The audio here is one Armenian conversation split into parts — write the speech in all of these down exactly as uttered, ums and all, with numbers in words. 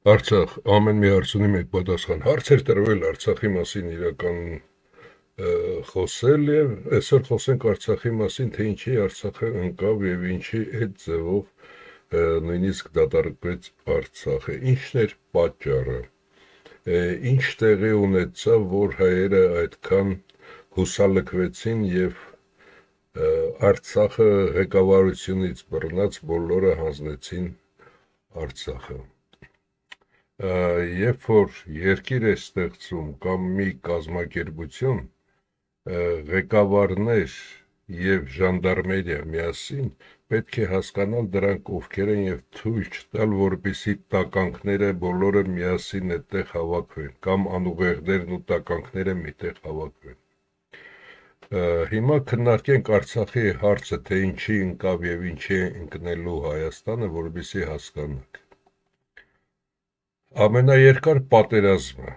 Արցախ ամեն մի հարցունի մեկ պատասխան։ Հարցեր տրվել Արցախի մասին իրական խոսել եւ այսօր խոսենք Արցախի մասին, թե ինչի Արցախը ընկավ եւ ինչի այդ ձևով նույնիսկ դատարկվեց Արցախը։ Ինչն էր պատճառը։ Ինչ տեղի ունեցավ, որ հայերը այդքան հուսալքվեցին եւ Արցախը ղեկավարությունից բռնած բոլորը հանձնեցին Արցախը։ Երբ որ երկիր է ստեղծում կամ մի կազմակերպություն, ղեկավարներ եւ ժանդարմերիա միասին պետք է հասկանալ դրանք ովքեր են եւ թույլ չտալ, որպեսզի տականքները բոլորը միասին այդտեղ հավաքվեն կամ անուղեղներն ու տականքները միտեղ հավաքվեն։ Հիմա քննարկենք Արցախի հարցը, թե ինչի ընկավ եւ ինչի է ընկնելու Հայաստանը, որպեսզի հասկանանք։ Ամենաերկար պատերազմը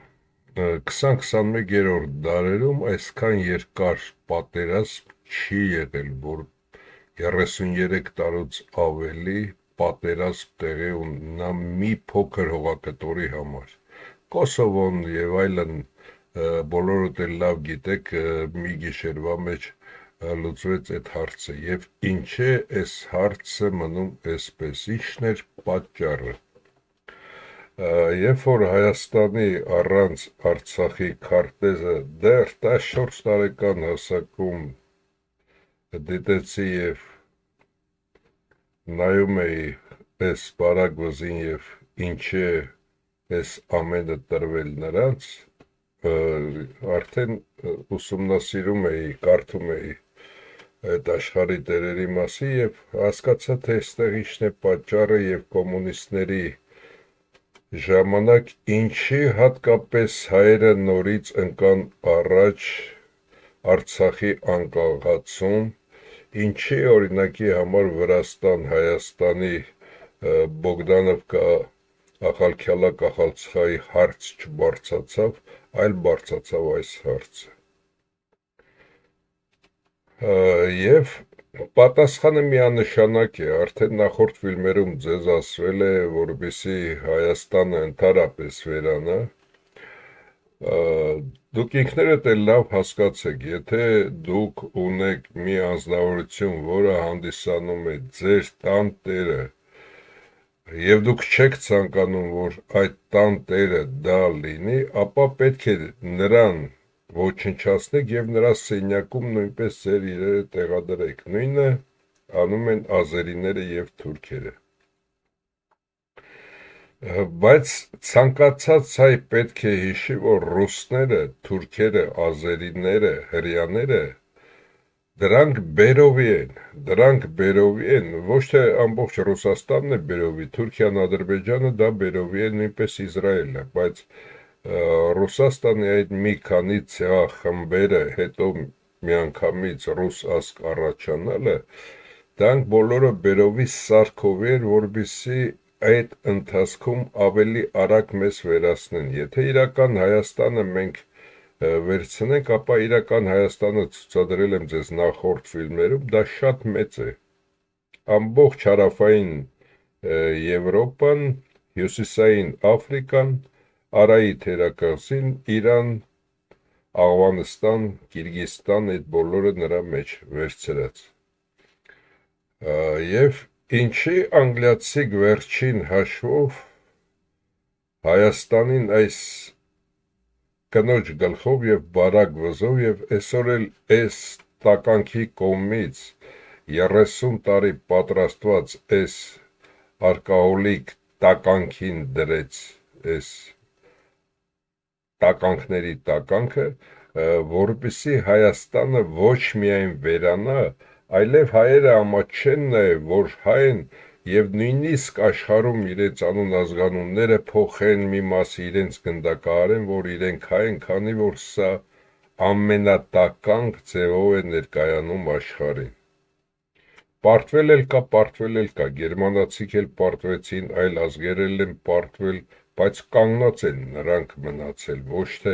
քսան-քսանմեկերորդ դարերում այսքան երկար պատերազմ չի եղել, որ երեսուներեք տարուց ավելի պատերազմ տեղի ունենա մի փոքր հողակտորի համար։ Կոսովոն եւ այլն բոլորդ էլ լավ գիտեք, մի գիշերվա մեջ լուծվեց այդ հարցը եւ ինչ է այս հարցը մնում այսպես, ինչն էր պատճառը։ Երբ որ Հայաստանի առանց Արցախի քարտեզը դեռ տասնչորս տարեկան հասակում դիտեցի եւ նայում էի այս բարակ վզին եւ ինչ է այս ամենը տրվել նրանց, արդեն ուսումնասիրում էի, կարդում էի այդ աշխարհի տերերի մասին եւ հասկացա, թե այստեղ ինչն է պատճառը եւ կոմունիստների ժամանակ ինչի հատկապես հայերը նորից ընկան առաջ Արցախի անկախացում, ինչի օրինակի համար Վրաստան, Հայաստանի Բոգդանովկա Ախալքյալա Կախալցխայի հարց չբարձացավ, այլ բարձացավ այս հարցը։ Եվ պատասխանը միանշանակ է, արդեն նախորդ ֆիլմերում ձեզ ասվել է, որպեսզի Հայաստանը ընդհանրապես վերանա, դուք ինքներդ էլ լավ հասկացեք, եթե դուք ունեք մի անձնավորություն, որը հանդիսանում է ձեր տան տերը, եւ դուք չեք ցանկանում, որ այդ տան տերը դա լինի, ապա պետք է նրան ոչնչացնեք եւ նրա սենյակում նույնպես ձեր իրերը տեղադրեք, նույնը անում են ազերիները եւ թուրքերը։ Բայց ցանկացած հայ պետք է հիշի, որ ռուսները, թուրքերը, ազերիները, հրեաները դրանք բերովի են, դրանք բերովի են, ոչ թե ամբողջ Ռուսաստանն է բերովի, Թուրքիան, Ադրբեջանը դա բերովի է, նույնպես Իսրայելը, բայց Ռուսաստանի այդ մի քանի ցեղախմբերը հետո միանգամից ռուս ազգ առաջանալը, դրանք բոլորը բերովի սարքով էր, որպեսզի այդ ընթացքում ավելի արագ մեզ վերացնեն։ Եթե իրական Հայաստանը մենք վերցնենք, ապա իրական Հայաստանը ցուցադրել եմ ձեզ նախորդ ֆիլմերում, դա շատ մեծ է։ Ամբողջ հարավային Եվրոպան, հյուսիսային Աֆրիկան, Արայի թերակղզին, Իրան, Աղվանստան, Կիրգիզստան, այդ բոլորը նրա մեջ վերցրած։ Եվ ինչի անգլիացիք վերջին հաշվով Հայաստանին այս կնոջ գլխով եւ բարակ վզով եւ այսօր էլ այս տականքի կողմից երեսուն տարի պատրաստված այս արկաոլիկ տականքին դրեց այս տականքների տականքը, որպեսզի Հայաստանը ոչ միայն վերանա, այլև հայերը ամաչեն նաև, որ հայն եւ նույնիսկ աշխարհում իրենց անուն ազգանունները փոխեն, մի մասը իրենց գնդակահարեն, որ իրենք հայ են, քանի որ սա ամենատականք ձևով է ներկայանում աշխարհին։ Պարտվել էլ կա, պարտվել էլ կա, գերմանացիք էլ պարտվեցին, այլ ազգեր էլ են պարտվել, բայց կանգնած են նրանք մնացել, ոչ թե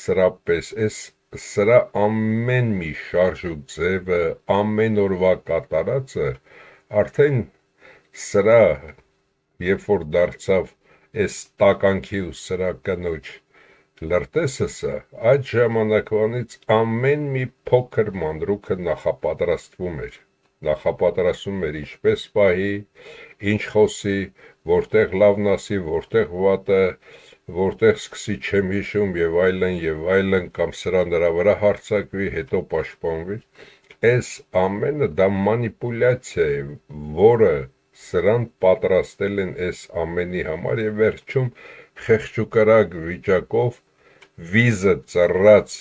սրա պես, այս սրա ամեն մի շարժ ու ձևը, ամեն օրվա կատարածը, արդեն սրա, երբ որ դարձավ այս տականքի ու սրա կնոջ լրտեսը, այդ ժամանակվանից ամեն մի փոքր մանրուքը նախապատրաստվում էր, նախապատրաստվում էր ինչպես պահի, ինչ խոսի, որտեղ լավն ասի, որտեղ վատը, որտեղ սկսի չեմ հիշում եւ այլն եւ այլն կամ սրա նրա վրա հարցակվի, հետո պաշտպանվի, այս ամենը դա մանիպուլյացիա է, որը սրան պատրաստել են այս ամենի համար եւ վերջում խեղճուկարակ վիճակով վիզը ծռած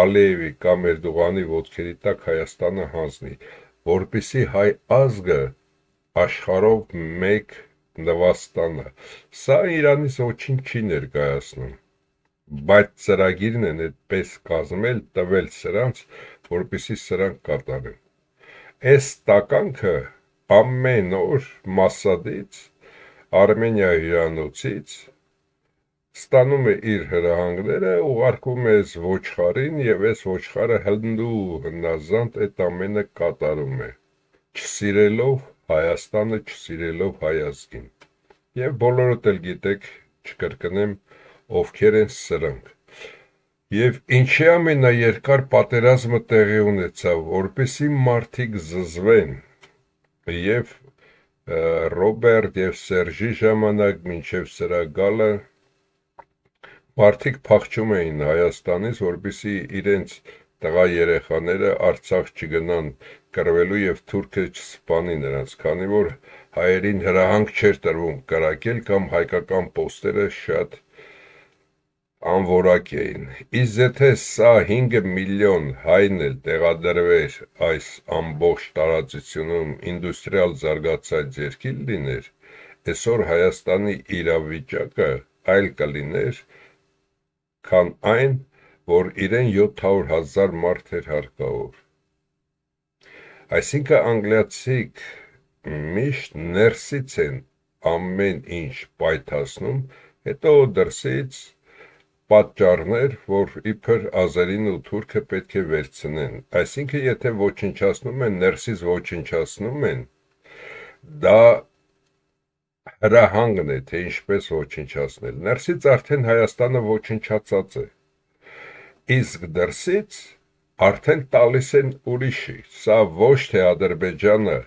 Ալիևի կամ Էրդողանի ոտքերի տակ Հայաստանը հանձնի, որպեսզի հայ ազգը աշխարհով մեկ նվաստանա։ Սա Իրանից ոչինչ չի ներկայացնում, բայց ծրագիրն են այդպես կազմել, տվել սրանց, որպեսզի սրանք կատարեն։ Այս տականքը ամեն օր Մասադից, Արմենիա հյուրանոցից ստանում է իր հրահանգները, ուղարկում է այս ոչխարին եւ այս ոչխարը հնդու հնազանդ այդ ամենը կատարում է, չսիրելով Հայաստանը, չսիրելով հայ ազգին։ Եվ բոլորդ էլ գիտեք, չկրկնեմ, ովքեր են սրանք։ Եվ ինչի ամենաերկար պատերազմը տեղի ունեցավ, որպեսզի մարդիկ զզվեն, եւ Ռոբերտ եւ Սերժի ժամանակ մինչեւ սրա գալը մարդիկ փախչում էին Հայաստանից, որպեսզի իրենց տղա երեխաները Արցախ չգնան կռվելու եւ թուրքը չսպանի նրանց, քանի որ հայերին հրահանգ չէր տրվում կրակել կամ հայկական պոստերը շատ անորակ էին։ Իսկ եթե սա հինգ միլիոն հայն էլ տեղադրվեր այս ամբողջ տարածությունում ինդուստրիալ զարգացած երկիր լիներ, այսօր Հայաստանի իրավիճակը այլ կլիներ, քան այն, որ իրեն յոթ հարյուր հազար մարդ էր հարկավոր։ Այսինքն անգլիացիք միշտ ներսից են ամեն ինչ պայթացնում, հետո դրսից պատճառներ, որ իբր ազերին ու թուրքը պետք է վերցնեն։ Այսինքն, եթե ոչնչացնում են, ներսից ոչնչացնում են, դա հրահանգն է, թե ինչպես ոչնչացնել։ Ներսից արդեն Հայաստանը ոչնչացած է։ Իսկ դրսից արդեն տալիս են ուրիշի։ Սա ոչ թե Ադրբեջանը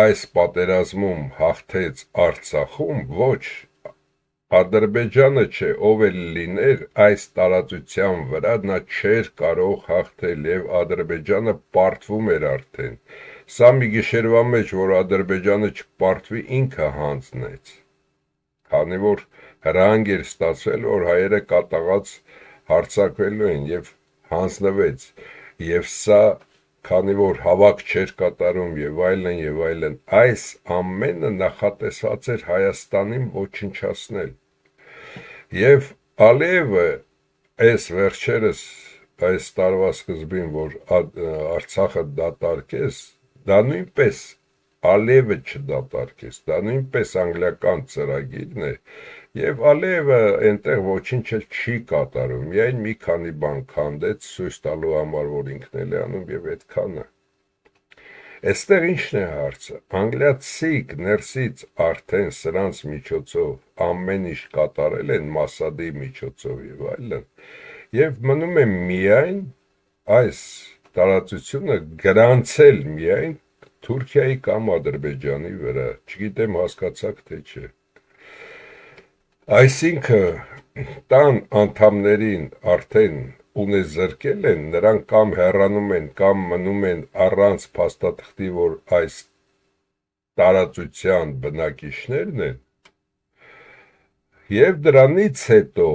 այս պատերազմում հաղթեց Արցախում, ոչ, Ադրբեջանը չէ, ով էլ լիներ այս տարածության վրա, նա չէր կարող հաղթել եւ Ադրբեջանը պարտվում էր արդեն։ Սա մի գիշերվա մեջ, որ Ադրբեջանը չպարտվի, ինքը հանձնեց, քանի որ հրահանգ էր ստացվել, որ հայերը կատաղած հարձակվելու են եւ հանձնվեց, եւ սա քանի որ հավաք չէր կատարում եւ այլն եւ այլն, այս ամենը նախատեսված էր Հայաստանին ոչնչացնել։ Եվ Ալիևը այս վերջերս այս տարվա սկզբին, որ Արցախը դատարկեց, դա նույնպես Ալիևը չդատարկեց, դա նույնպես անգլիական ծրագիրն է, եւ Ալիևը այնտեղ ոչինչ չի կատարում, միայն մի քանի բան քանդեց ցույց տալու համար, որ ինքն էլ է անում եւ այդքանը։ Այստեղ ինչն է հարցը։ Անգլիացիք ներսից արդեն սրանց միջոցով ամեն ինչ կատարել են Մասադի միջոցով եւ այլն, եւ մնում է միայն այս տարածությունը գրանցել միայն Թուրքիայի կամ Ադրբեջանի վրա, չգիտեմ հասկացաք թե չէ։ Այսինքն տան անդամներին արդեն ունեզրկել են, նրանք կամ հեռանում են, կամ մնում են առանց փաստաթղթի, որ այս տարածության բնակիչներն են, եւ դրանից հետո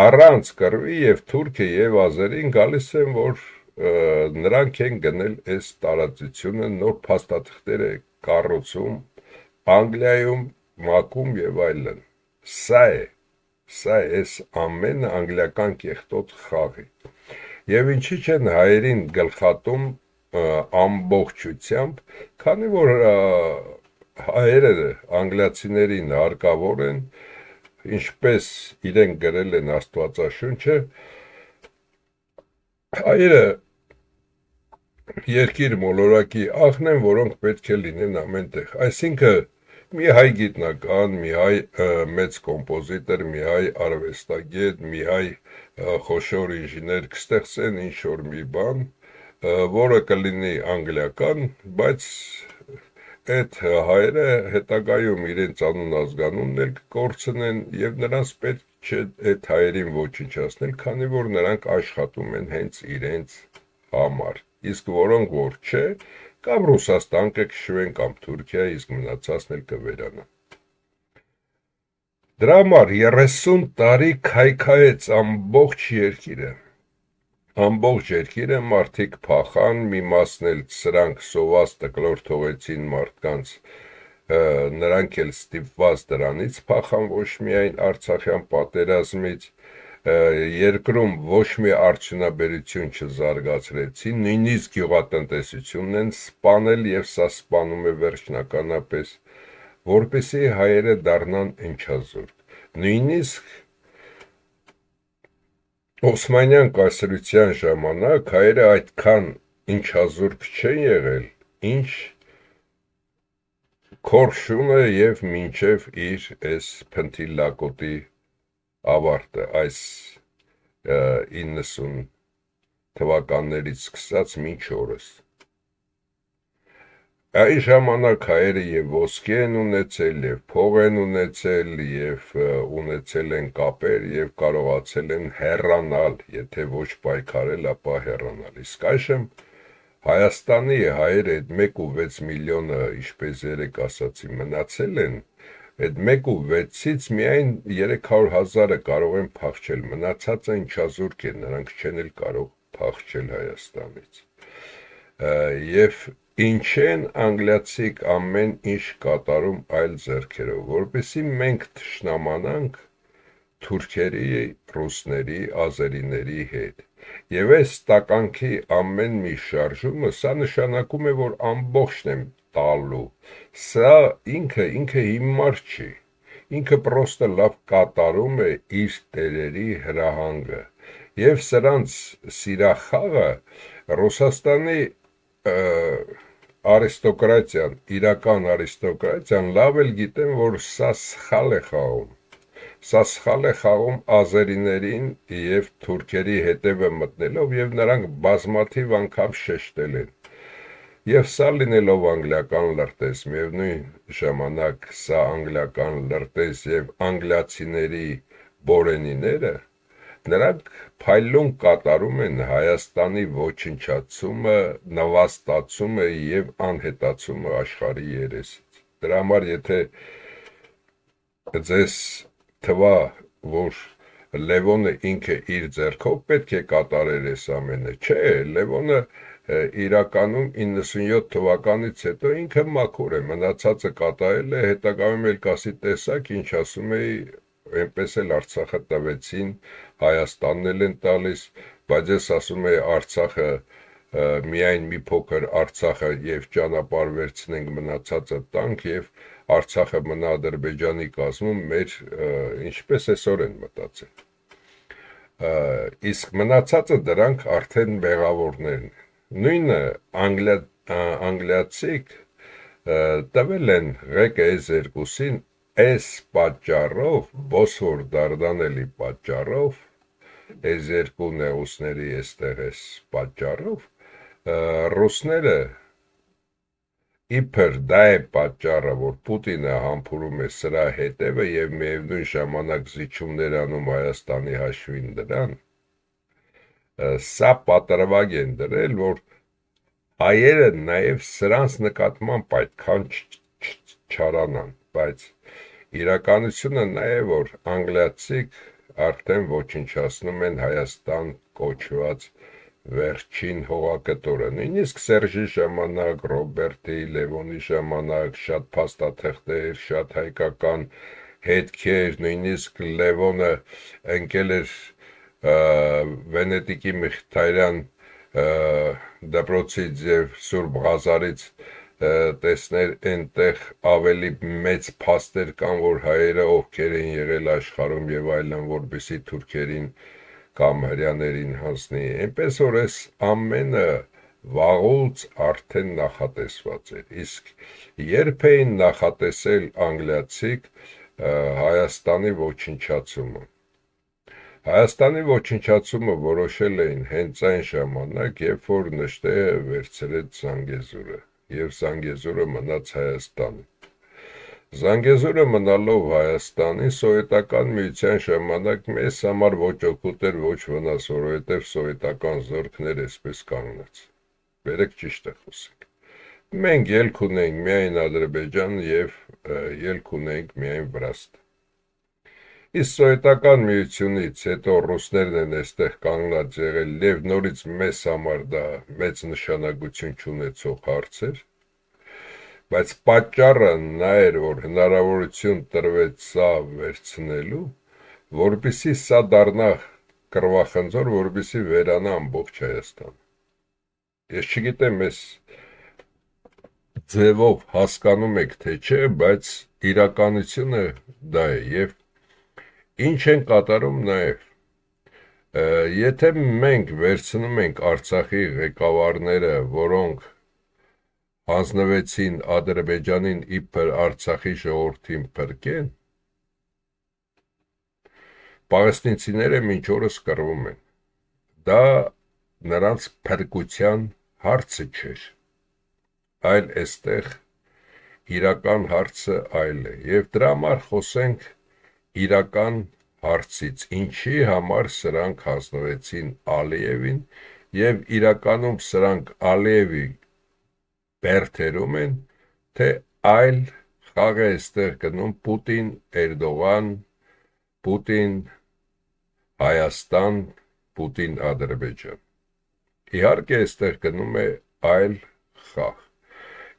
առանց կռվի եւ թուրքը եւ ազերին գալիս են, որ նրանք են գնել այս տարածությունը, նոր փաստաթղթեր է կառուցում Անգլիայում, ՄԱԿ-ում եւ այլն։ Սա է, սա է այս ամենը անգլիական կեղտոտ խաղի։ Եվ ինչի չեն հայերին գլխատում ամբողջությամբ, քանի որ հայերը անգլիացիներին հարկավոր են, ինչպես իրեն գրել են Աստվածաշունչը, հայերը երկիր մոլորակի աղն են, որոնք պետք է լինեն ամենտեղ։ Այսինքն մի հայ գիտնական, մի հայ մեծ կոմպոզիտոր, մի հայ արվեստագետ, մի հայ խոշոր ինժեներ կստեղծեն ինչ-որ մի բան, որը կլինի անգլիական, բայց այդ հայերը հետագայում իրենց անուն ազգանունն էլ կկորցնեն և նրանց պետք չէ այդ հայերին ոչնչացնել, քանի որ նրանք աշխատում են հենց իրենց համար, իսկ որոնք որ չէ, կամ Ռուսաստան կքշվեն, կամ Թուրքիա, իսկ մնացածն էլ կվերանան։ Դրա համար երեսուն տարի քայքայեց ամբողջ երկիրը, ամբողջ երկիրը մարդիկ փախան, մի մասն էլ սրանք սոված տկլոր թողեցին մարդկանց, նրանք էլ ստիպված դրանից փախան, ոչ միայն Արցախյան պատերազմից, երկրում ոչ մի արդյունաբերություն չզարգացրեցին, նույնիսկ գյուղատնտեսությունն են սպանել և սա սպանում է վերջնականապես, որպեսզի հայերը դառնան ընչազուրկ։ Նույնիսկ Օսմանյան կայսրության ժամանակ հայերը այդքան ընչազուրկ չեն եղել, ինչ Քորշունը և մինչև իր այս փնթի ավարտը, այս իննսուն թվականներից սկսած մինչ օրս։ Այն ժամանակ հայերը և ոսկի են ունեցել, և փող են ունեցել, և ունեցել են կապեր, և կարողացել են հեռանալ, եթե ոչ պայքարել, ապա հեռանալ, իսկ այժմ Հայաստանի հայերը այդ մեկ ու վեց միլիոնը, ինչպես երեկ ասացի, մնացել են, այդ մեկ ու վեցից միայն երեք հարյուր հազարը կարող են փախչել, մնացածը ընչազուրկ են, նրանք չեն էլ կարող փախչել Հայաստանից։ Եվ ինչ են անգլիացիք ամեն ինչ կատարում այլ ձեռքերով, որպեսզի մենք թշնամանանք թուրքերի, ռուսների, ազերիների հետ։ Եվ այս տականքի ամեն մի շարժումը, սա նշանակում է, որ ամբողջն եմ տալու, սա ինքը, ինքը հիմար չի, ինքը պրոստը լավ կատարում է իր տերերի հրահանգը, և սրանց սիրախաղը Ռուսաստանի արիստոկրատիան, իրական արիստոկրատիան լավ էլ գիտեն, որ սա սխալ է խաղում, սա սխալ է խաղում ազերիներին և թուրքերի հետևը մտնելով և նրանք բազմաթիվ անգամ շեշտել են։ Եվ սա լինելով անգլիական լրտես, միևնույն ժամանակ սա անգլիական լրտես և անգլիացիների բորենիները, նրանք փայլուն կատարում են Հայաստանի ոչնչացումը, նվաստացումը և անհետացումը աշխարհի երեսից։ Դրա համար եթե ձեզ թվա, որ Լևոնը ինքը իր ձեռքով պետք է կատարեր այս ամենը, չէ, Լևոնը իրականում իննսունյոթ թվականից հետո ինքը մաքուր է, մնացածը կատարել է, հետագայում էլ կասի տեսակ, ինչ ասում էի, այնպես էլ Արցախը տվեցին, Հայաստանն էլ են տալիս, բայց ես ասում էի Արցախը միայն մի փոքր Արցախը և ճանապարհ վերցնենք, մնացածը տանք և Արցախը մնա Ադրբեջանի կազմում, մեր ինչպես այսօր են մտածել։ Իսկ մնացածը դրանք արդեն մեղավորներն են։ Նույնը անգլիացիք տվել են ղեկը այս երկուսին այս պատճառով, Բոսֆոր Դարդանելի պատճառով, այս երկու նեղուցների այստեղ այս պատճառով, ռուսները իբր դա է պատճառը, որ Պուտինը համբուրում է սրա հետևը և միևնույն ժամանակ զիջումներ անում Հայաստանի հաշվին դրան, սա պատրվակ են դրել, որ հայերը նաև սրանց նկատմամբ այդքան չարանան, բայց իրականությունը նա է, որ անգլիացիք արդեն ոչնչացնում են Հայաստան կոչված վերջին հողակտորը, նույնիսկ Սերժի ժամանակ, Ռոբերտի, Լևոնի ժամանակ, շատ փաստաթղթեր, շատ հայկական հետքեր, նույնիսկ Լևոնը ընկել էր Վենետիկի Մխիթարյան դպրոցից և Սուրբ Ղազարից տեսներ այնտեղ ավելի մեծ փաստեր կան, որ հայերը ովքեր են եղել աշխարհում և այլն, որպեսզի թուրքերին կամ հրեաներին հանձնի, այնպես որ այս ամենը վաղուց արդեն նախատեսված էր, իսկ երբ էին նախատեսել անգլիացիք Հայաստանի ոչնչացումը։ Հայաստանի ոչնչացումը որոշել էին հենց այն ժամանակ, երբ որ նժդեհը վերցրեց Զանգեզուրը, եւ Զանգեզուրը մնաց Հայաստանի։ Զանգեզուրը մնալով Հայաստանի, Սովետական միության ժամանակ մեզ համար ոչ օգուտ էր, ոչ վնաս, որովհետև սովետական զորքներ այսպես կանգնած։ Բերեք ճիշտ է խոսենք։ Մենք ելք ունենք միայն Ադրբեջան եւ ելք ունենք միայն Վրաստան։ Իսկ սովետական միությունից հետո ռուսներն են այստեղ կանգնած եղել եւ նորից մեզ համար դա մեծ նշանակություն չունեցող հարց էր։ Բայց պատճառը նա էր, որ հնարավորություն տրվեց սա վերցնելու, որպեսզի սա դառնա կռվախնձոր, որպեսզի վերանա ամբողջ Հայաստանը։ Ես չգիտեմ, ես ձևով հասկանում եք, թե չէ, բայց իրականությունը դա է եւ ինչ են կատարում նաեւ։ Եթե մենք վերցնում ենք Արցախի ղեկավարները, որոնք հանձնվեցին Ադրբեջանին իբր Արցախի ժողովրդին փրկեն, պաղեստինցիները մինչ օրս կռվում են։ Դա նրանց փրկության հարցը չէր, այլ այստեղ իրական հարցը այլ է, եւ դրա համար խոսենք իրական հարցից, ինչի համար սրանք հանձնվեցին Ալիևին եւ իրականում սրանք Ալիևի բերթերում են, թե այլ խաղ է այստեղ գնում Պուտին, Էրդողան, Պուտին, Հայաստան, Պուտին, Ադրբեջան։ Իհարկե այստեղ գնում է այլ խաղ։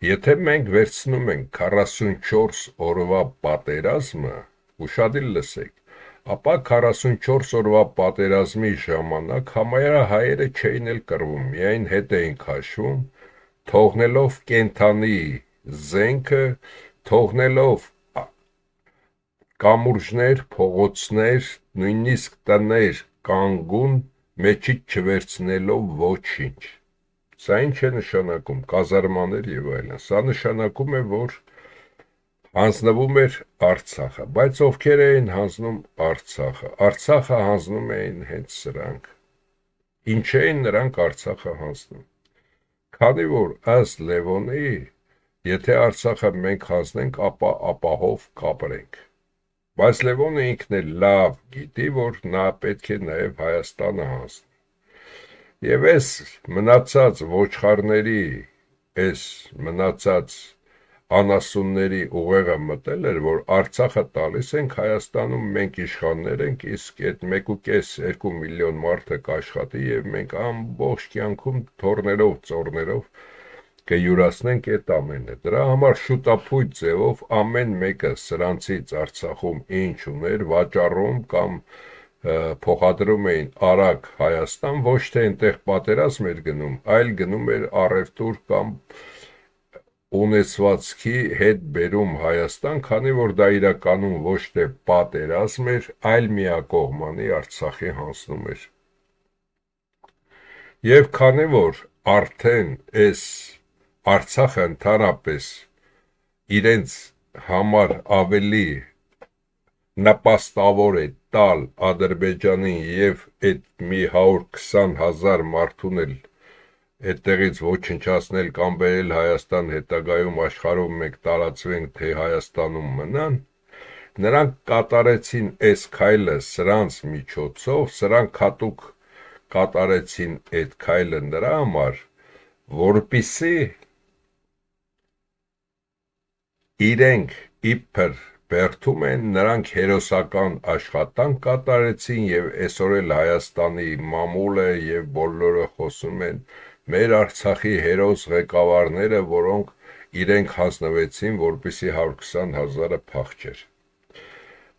Եթե մենք վերցնում ենք քառասունչորս օրվա պատերազմը, ուշադիր լսեք, ապա քառասունչորս օրվա պատերազմի ժամանակ համարյա հայերը չէին էլ կռվում, միայն հետ էին քաշվում, թողնելով կենթանի զենքը, թողնելով կամուրջներ, փողոցներ, նույնիսկ տներ կանգուն, մեջից չվերցնելով ոչինչ։ Սա ինչ է նշանակում, կազարմաներ եւ այլն։ Սա նշանակում է, որ հանձնվում էր Արցախը, բայց ովքեր էին հանձնում Արցախը։ Արցախը հանձնում էին հենց սրանք։ Ինչ էին նրանք Արցախը հանձնում։ Քանի որ ըստ Լևոնի, եթե Արցախը մենք հանձնենք, ապա ապահով կապրենք։ Բայց Լևոնը ինքն էլ լավ գիտի, որ նա պետք է նաև Հայաստանը հանձնի։ Եվ այս մնացած ոչխարների, այս մնացած անասունների ուղեղը մտել էր, որ Արցախը տալիս ենք Հայաստանում, մենք իշխաններ ենք, իսկ այդ մեկ ու կես երկու միլիոն մարդը կաշխատի եւ մենք ամբողջ կյանքում թորներով, ծորներով կյուրացնենք այդ ամենը։ Դրա համար շուտապույտ ձևով ամեն մեկը սրանցից Արցախում ինչ ուներ, վաճառում կամ փոխադրում էին արագ Հայաստան, ոչ թե այնտեղ պատերազմ էր գնում, այլ գնում էր առևտուր կամ ունեցվածքի հետ բերում Հայաստան, քանի որ դա իրականում ոչ թե պատերազմ էր, այլ միակողմանի Արցախի հանձնում էր։ Եվ քանի որ արդեն այս Արցախը ընդհանրապես իրենց համար ավելի նպաստավոր է տալ Ադրբեջանին եւ այդ մի հարյուր քսան հազար մարդուն էլ այդտեղից ոչնչացնել կամ բերել Հայաստան, հետագայում աշխարհում մենք տարածվենք, թե Հայաստանում մնան, նրանք կատարեցին այս քայլը սրանց միջոցով, սրանք հատուկ կատարեցին այդ քայլը նրա համար, որպեսզի իրենք իբր բերդում են, նրանք հերոսական աշխատանք կատարեցին եւ այսօր էլ Հայաստանի մամուլը եւ բոլորը խոսում են մեր Արցախի հերոս ղեկավարները, որոնք իրենք հանձնվեցին, որպեսզի հարյուր քսան հազարը փախչեր։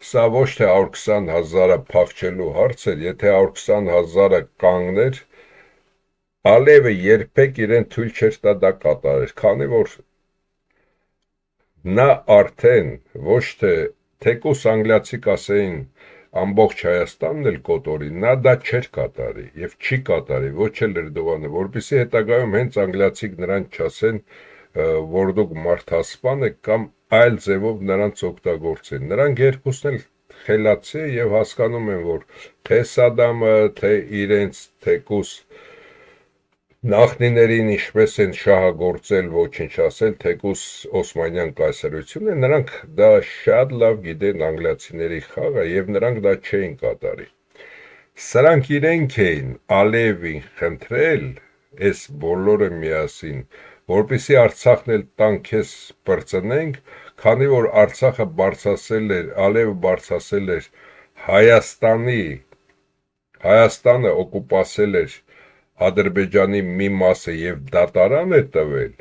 Սա ոչ թե հարյուր քսան հազարը փախչելու հարց էր, եթե հարյուր քսան հազարը կանգներ, Ալիևը երբեք իրեն թույլ չէր տա դա կատարեր, քանի որ նա արդեն ոչ թե թեկուս անգլիացի կասեին ամբողջ Հայաստանն էլ կոտորի, նա դա չէր կատարի եւ չի կատարի, ոչ էլ Էրդողանը, որպեսզի հետագայում հենց անգլիացիք նրան չասեն, որ դուք մարդասպան եք կամ այլ ձևով նրանց օգտագործեն։ Նրանք երկուսն էլ խելացի եւ հասկանում են, որ թե Սադամը, թե իրենց թեկուս նախնիներին ինչպես են շահագործել, ոչնչացել, թեկուս Օսմանյան կայսրությունը, նրանք դա շատ լավ գիտեն անգլիացիների խաղը եւ նրանք դա չէին կատարի։ Սրանք իրենք էին Ալիևին խնդրել, այս բոլորը միասին, որպեսզի Արցախն էլ տան քեզ բրծնենք, քանի որ Արցախը բարձրացել էր, Ալիևը բարձրացել էր Հայաստանի, Հայաստանը օկուպացել էր Ադրբեջանի մի մասը եւ դատարան է տվել,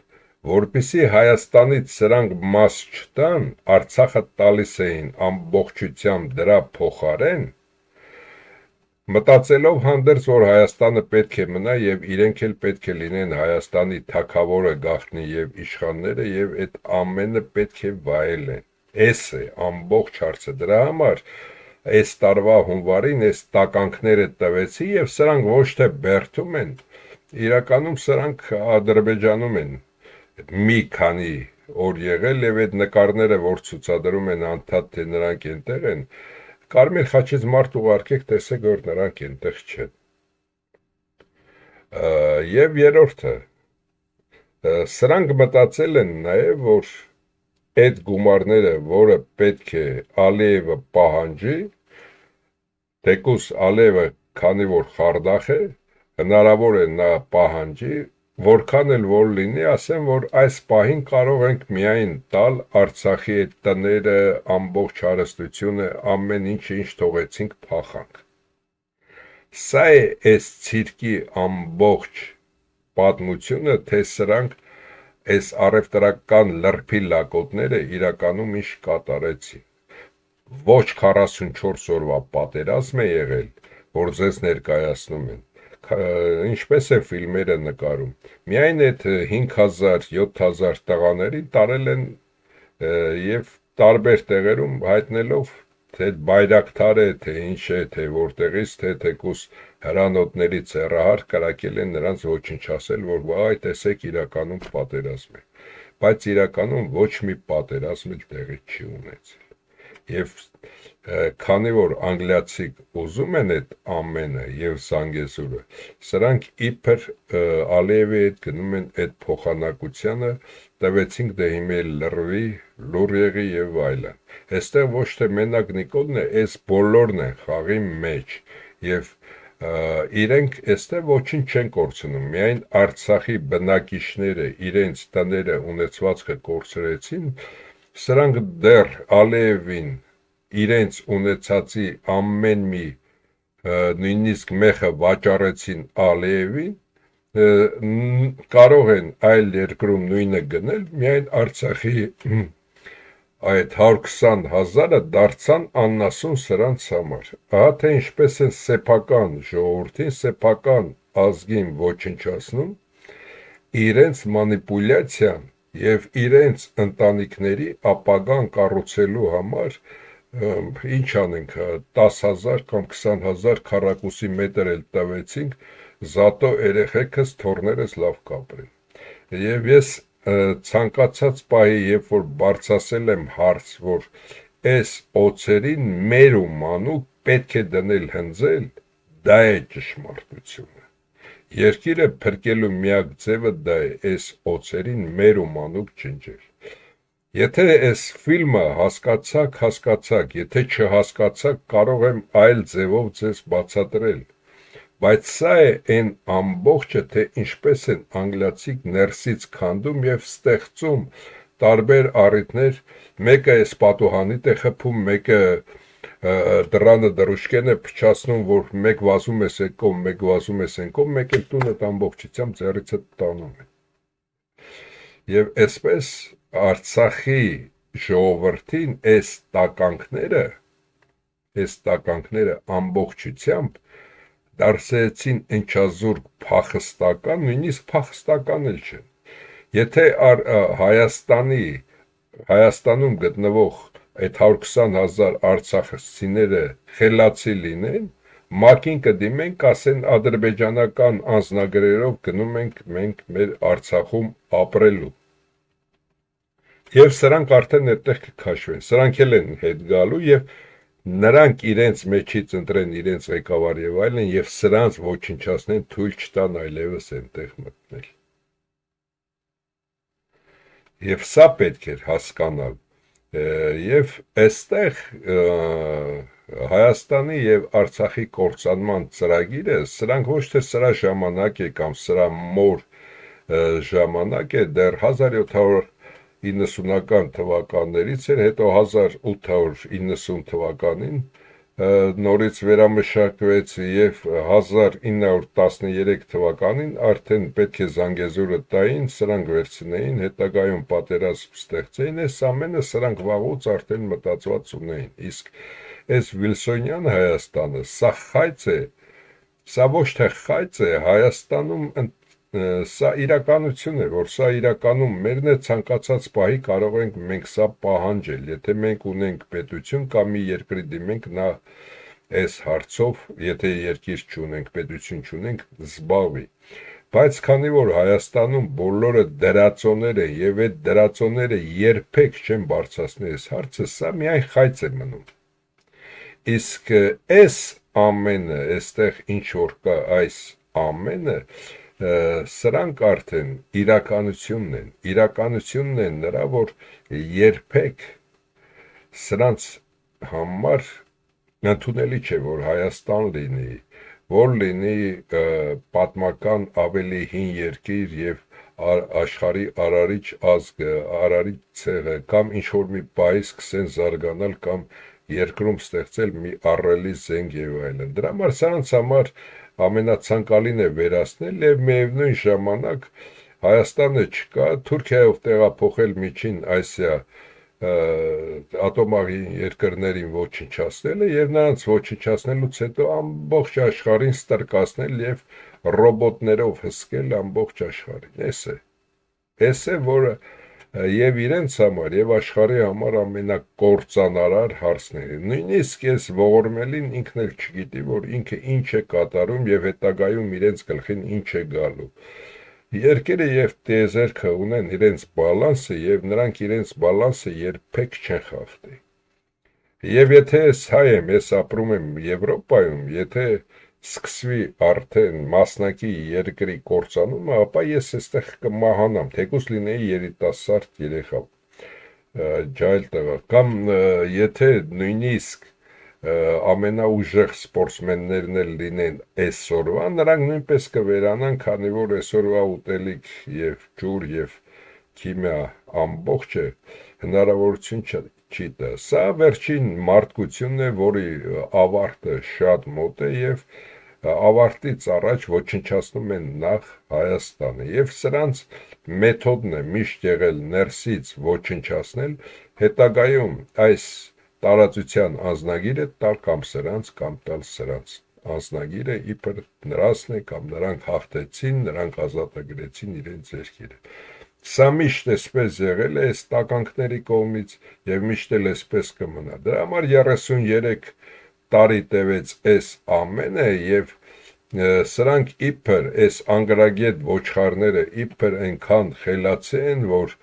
որպեսզի Հայաստանից սրանք մաս չտան, Արցախը տալիս էին ամբողջությամբ դրա փոխարեն, մտածելով հանդերձ, որ Հայաստանը պետք է մնա եւ իրենք էլ պետք է լինեն Հայաստանի թագավորը գաղտնի եւ իշխանները եւ այդ ամենը պետք է վայելեն։ Էս է ամբողջ հարցը, դրա համար այս տարվա հունվարին այս տականքները տվեցի եւ սրանք ոչ թե բերդում են, իրականում սրանք Ադրբեջանում են մի քանի օր եղել եւ այդ նկարները, որ ցուցադրում են անդադ թե նրանք այնտեղ են, Կարմիր խաչից մարդ ուղարկեք, տեսեք, որ նրանք այնտեղ չեն։ Եվ երրորդը, սրանք մտածել են նաեւ, որ այդ գումարները, որը պետք է Ալիևը պահանջի, թեկուս Ալիևը, քանի որ խարդախ է, հնարավոր է նա պահանջի, որքան էլ որ լինի, ասեմ, որ այս պահին կարող ենք միայն տալ Արցախի այդ տները, ամբողջ հարստությունը, ամեն ինչ ինչ թողեցինք փախանք։ Սա է այս ցիրկի ամբողջ պատմությունը, թե սրանք այս առևտրական լրփի լակոտները իրականում ինչ կատարեցին։ Ոչ քառասունչորս օրվա պատերազմ է եղել, որ ձեզ ներկայացնում են, ինչպես է ֆիլմերը նկարում, միայն այդ հինգ հազար, յոթ հազար տղաների տարել են եւ տարբեր տեղերում հայտնելով, թե բայրակթար է, թե ինչ է, թե որտեղից, թե թեկուս հրանոթների ցեղահար կրակել են նրանց ոչնչացել, որ այ տեսեք իրականում պատերազմ է, բայց իրականում ոչ մի պատերազմ էլ տեղի չի ունեցել։ Եվ քանի որ անգլիացիք ուզում են այդ ամենը եւ Զանգեզուրը, սրանք իբր Ալիևի հետ գնում են այդ փոխանակությանը, տվեցինք դե հիմա լրվի, լուր եղի եւ այլն։ Այստեղ ոչ թե մենակ Նիկոլն է, այս բոլորն են խաղի մեջ եւ իրենք այստեղ ոչինչ չեն կորցնում, միայն Արցախի բնակիչները իրենց տները ունեցվածքը կորցրեցին, սրանք դեռ Ալիևին իրենց ունեցածի ամեն մի նույնիսկ մեխը վաճառեցին Ալիևին, կարող են այլ երկրում նույնը գնել, միայն Արցախի այդ հարյուր քսան հազարը դարձան աննասուն սրանց համար։ Ահա թե ինչպես են սեփական ժողովրդին, սեփական ազգին ոչնչացնում, իրենց մանիպուլյացիան եւ իրենց ընտանիքների ապագան կառուցելու համար ինչ անենք, տաս հազար կամ քսան հազար քառակուսի մետր էլ տվեցինք, զատո երեխեքս թորներս լավ կապրեն։ Եվ ես ցանկացած պահի, երբ որ բարձրացել եմ հարց, որ այս օծերին մեր ու մանուկ պետք է դնել հնձել, դա է ճշմարտությունը։ Երկիրը փրկելու միակ ձևը դա է այս օծերին մեր ու մանուկ ջնջել։ Եթե այս ֆիլմը հասկացաք, հասկացաք, եթե չհասկացաք, կարող եմ այլ ձևով ձեզ բացատրել, բայց սա է այն ամբողջը, թե ինչպես են անգլիացիք ներսից քանդում եւ ստեղծում տարբեր առիթներ, մեկը այս պատուհանիտ է խփում, մեկը դրանը դրուշկեն է փչացնում, որ մեկ վազում ես այդ կողմ, մեկ վազում ես այն կողմ, մեկ էլ տունը ամբողջությամբ ձեռիցդ տանում են։ Եվ այսպես Արցախի ժողովրդին այս տականքները, այս տականքները ամբողջությամբ դարձեցին ընչազուրկ փախստական, նույնիսկ փախստական էլ չեն։ Եթե Հայաստանի, Հայաստանում գտնվող այդ հարյուր քսան հազար արցախցիները խելացի լինեն, ՄԱԿ-ին կդիմենք, կասեն ադրբեջանական անձնագրերով գնում ենք մենք մեր Արցախում ապրելու։ Եվ սրանք արդեն այդտեղ կքաշվեն, սրանք էլ են հետ գալու եւ նրանք իրենց մեջից ընտրեն իրենց ղեկավար եւ այլն եւ սրանց ոչնչացնեն, թույլ չտան այլևս այնտեղ մտնել։ Եվ սա պետք էր հասկանալ, եւ այստեղ Հայաստանի եւ Արցախի կործանման ծրագիրը, սրանք ոչ թե սրա ժամանակ է կամ սրա մոր ժամանակ է, դեռ հազար յոթ հարյուր իննսունական թվականներից էր, հետո հազար ութ հարյուր իննսուն թվականին նորից վերամշակվեց եւ հազար ինը հարյուր տասներեք թվականին արդեն պետք է Զանգեզուրը տային, սրանք վերցնեին, հետագայում պատերազմ ստեղծեին, այս ամենը սրանք վաղուց արդեն մտածված ունեին, իսկ այս Վիլսոնյան Հայաստանը, սա խայծ է, սա ոչ թե խայծ է, Հայաստանում սա իրականություն է, որ սա իրականում մերն է, ցանկացած պահի կարող ենք մենք սա պահանջել, եթե մենք ունենք պետություն կամ մի երկրի դիմենք նա այս հարցով, եթե երկիր չունենք, պետություն չունենք, զբաղվի։ Բայց քանի որ Հայաստանում բոլորը դրածոներ են եւ այդ դրածոները երբեք չեն բարձրացնի այս հարցը, սա միայն խայծ է մնում։ Իսկ այս ամենը, այստեղ ինչ որ կա այս ամենը, սրանք արդեն իրականությունն են, իրականությունն են նրա, որ երբեք սրանց համար ընդունելի չէ, որ Հայաստան լինի, որ լինի պատմական ավելի հին երկիր եւ աշխարհի արարիչ ազգը, արարիչ ցեղը, կամ ինչ որ մի պահի սկսեն զարգանալ կամ երկրում ստեղծել մի առելի զենք եւ այլն։ Դրա համար սրանց համար ամենացանկալին է վերացնել եւ միևնույն ժամանակ Հայաստանը չկա, Թուրքիայով տեղափոխել միջին Ասիա ատոմային երկրներին ոչնչացնելը եւ նրանց ոչնչացնելուց հետո ամբողջ աշխարհին ստրկացնել եւ ռոբոտներով հսկել ամբողջ աշխարհին։ Էս է։ Էս է, որը եւ իրենց համար եւ աշխարհի համար ամենակործանարար հարցն է։ Նույնիսկ այս ողորմելին ինքն էլ չգիտի, որ ինքը ինչ է կատարում եւ հետագայում իրենց գլխին ինչ է գալու։ Երկերը եւ տիեզերքը ունեն իրենց բալանսը եւ նրանք իրենց բալանսը երբեք չեն խախտի։ Եվ եթե ես հայ եմ, ես ապրում եմ Եվրոպայում, եթե սկսվի արդեն մասնակի երկրի կործանումը, ապա ես այստեղ կմահանամ, թեկուզ լինեի երիտասարդ երեխա, ջահել տղա, կամ եթե նույնիսկ ամենաուժեղ սպորտսմեններն էլ լինեն այսօրվա, նրանք նույնպես կվերանան, քանի որ այսօրվա ուտելիք եւ ջուր եւ քիմիա ամբողջը հնարավորություն չի տա։ Սա վերջին մարդկությունն է, որի ավարտը շատ մոտ է եւ ավարտից առաջ ոչնչացնում են նախ Հայաստանը եւ սրանց մեթոդն է միշտ եղել ներսից ոչնչացնել, հետագայում այս տարածության անձնագիրը տալ կամ սրանց կամ տալ սրանց անձնագիրը իբր նրանցն է կամ նրանք հաղթեցին, նրանք ազատագրեցին իրենց երկիրը։ Սա միշտ էսպես եղել է այս տականքների կողմից եւ միշտ էլ էսպես կմնա։ Դրա համար երեսունյերեք տարի տևեց այս ամենը եւ սրանք իբր այս անգրագետ ոչխարները իբր այնքան խելացի են, որ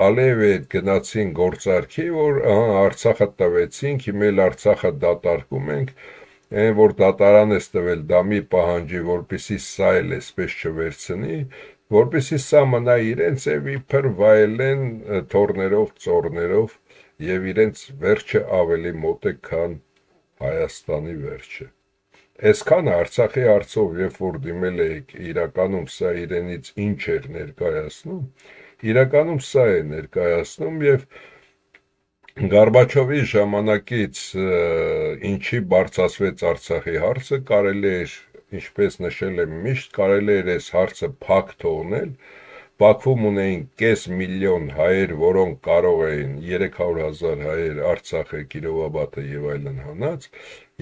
Ալիևի հետ գնացին գործարքի, որ Արցախը տվեցինք, հիմա էլ Արցախը դատարկում ենք, այն որ դատարան է տվել դա մի պահանջի, որպեսզի սա էլ էսպես չվերցնի, որպեսզի սա մնա իրենց եւ իբր վայելեն թորներով, ծորներով եւ իրենց վերջը ավելի մոտ է, քան Հայաստանի վերջը։ Այսքան Արցախի հարցով, երբ որ դիմել եք, իրականում սա իրենից ինչ էր ներկայացնում, իրականում սա է ներկայացնում եւ Գորբաչովի ժամանակից ինչի բարձրացվեց Արցախի հարցը, կարելի էր, ինչպես նշել եմ միշտ, կարելի էր այս հարցը փակ թողնել, Բաքվում ունեին կես միլիոն հայեր, որոնք կարող էին երեք հարյուր հազար հայեր Արցախը, Կիրովաբադը եւ այլն հանած,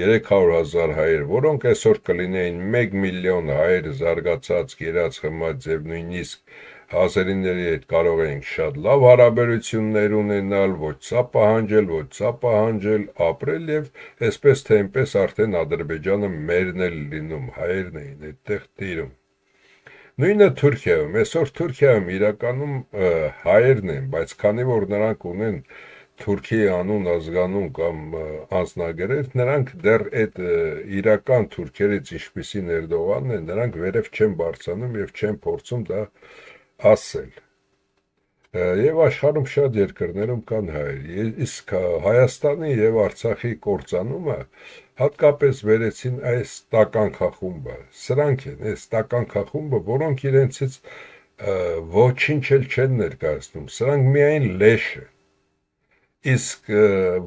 երեք հարյուր հազար հայեր, որոնք այսօր կլինեին մեկ միլիոն հայեր զարգացած, գերած խմած եւ նույնիսկ ազերիների հետ կարող էինք շատ լավ հարաբերություններ ունենալ, ոչ սա պահանջել, ոչ սա պահանջել, ապրել եւ այսպես թե այնպես արդեն Ադրբեջանը մերն էլ լինում, հայերն էին այդտեղ տիրում։ Նույնը Թուրքիայում, այսօր Թուրքիայում իրականում հայերն են, բայց քանի որ նրանք ունեն Թուրքիի անուն ազգանուն կամ անձնագրեր, նրանք դեռ այդ իրական թուրքերից ինչպիսին Էրդողանն են, նրանք վերև չեն բարձանում եւ չեն փորձում դա ասել։ Եվ աշխարհում շատ երկրներում կան հայեր, իսկ Հայաստանի եւ Արցախի կործանումը հատկապես վերեցին այս տականքախումբը, սրանք են, այս տականքախումբը, որոնք իրենցից ոչինչ էլ չեն ներկայացնում, սրանք միայն լեշ են, իսկ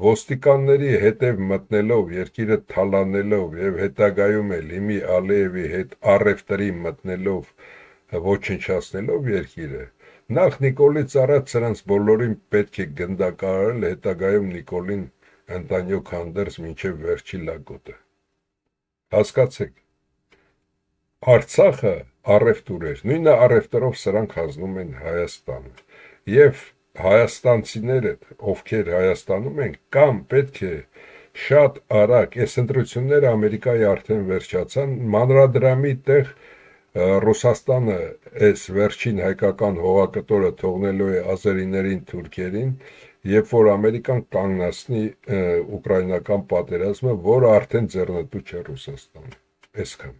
ոստիկանների հետև մտնելով, երկիրը թալանելով եւ հետագայում էլ Հիմի Ալիևի հետ առևտրի մտնելով, ոչնչացնելով երկիրը, նախ Նիկոլից առաջ սրանց բոլորին պետք է գնդակահարել, հետագայում Նիկոլին ընտանյոք հանդերձ մինչև վերջի լակոտը։ Հասկացեք, Արցախը առևտուր էր, նույնը առևտրով սրանք հանձնում են Հայաստանը, եւ հայաստանցիները, ովքեր Հայաստանում են, կամ պետք է շատ արագ, այս ընտրությունները Ամերիկայի արդեն վերջացան, մանրադրամի տեղ Ռուսաստանը այս վերջին հայկական հողակտորը թողնելու է ազերիներին, թուրքերին, երբ որ Ամերիկան կանգնացնի ուկրաինական պատերազմը, որը արդեն ձեռնտու չէ Ռուսաստանը։ Այսքան։